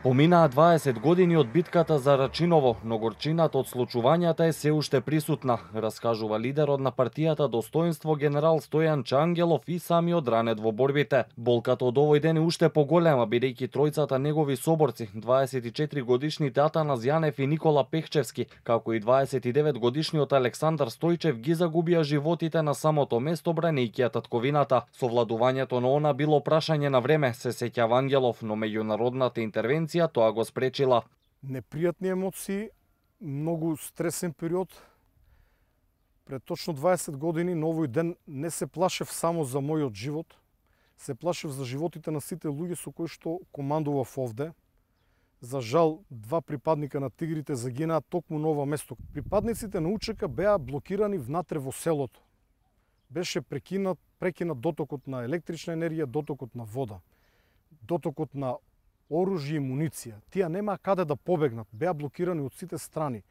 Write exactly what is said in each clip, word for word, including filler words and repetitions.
Поминаа дваесет години од битката за Рачиново, но горчината од случувањата е се уште присутна, раскажува лидерот на партијата Достоинство генерал Стојан Чангелов и самиот ранет во борбите. Болката од овој ден е уште поголема, бидејќи тројцата негови соборци, дваесет и четири годишните Атанас Јанев и Никола Пехчевски, како и дваесет и девет годишниот Александар Стојчев ги загубија животите на самото место бранејќи ја татковината. Совладувањето на она било прашање на време, се сеќава Ангелов, но меѓународната интервенција тоа го спречила. Непријатни емоции, многу стресен период. Пред точно дваесет години на овој ден не се плашев само за мојот живот, се плашев за животите на сите луѓе со кои што командував овде. За жал, два припадника на тигрите загинаа токму на ова место. Припадниците на УЧК беа блокирани внатре во селото. Беше прекинат, прекинат дотокот на електрична енергија, дотокот на вода, дотокот на оружје и муниција. Тие немаа каде да побегнат, беа блокирани од сите страни.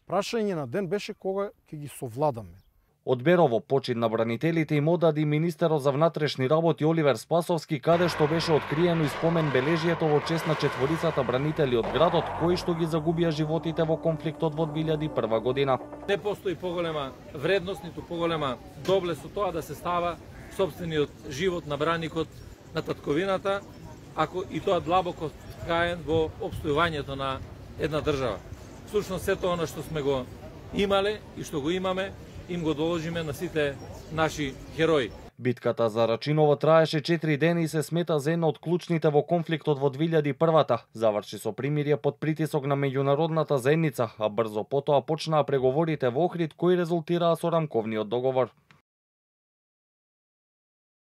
Прашање на ден беше кога ќе ги совладаме. Од Берово почит на бранителите им одади министерот за внатрешни работи Оливер Спасовски, каде што беше откриено и спомен бележјето во чест на четворицата бранители од градот кои што ги загубија животите во конфликтот во две илјади и прва година. Не постои поголема вредност, ниту поголема доблест со тоа да се става сопствениот живот на браникот на татковината, ако и тоа длабоко вкаен во опстојувањето на една држава. Всушност сето она што сме го имале и што го имаме, им го доложиме на сите наши херои. Битката за Рачиново траеше четири дена и се смета за една од клучните во конфликтот во две илјади и прва. Заврши со примирие под притисок на меѓународната заедница, а брзо потоа почнаа преговорите во Охрид кои резултираа со рамковниот договор.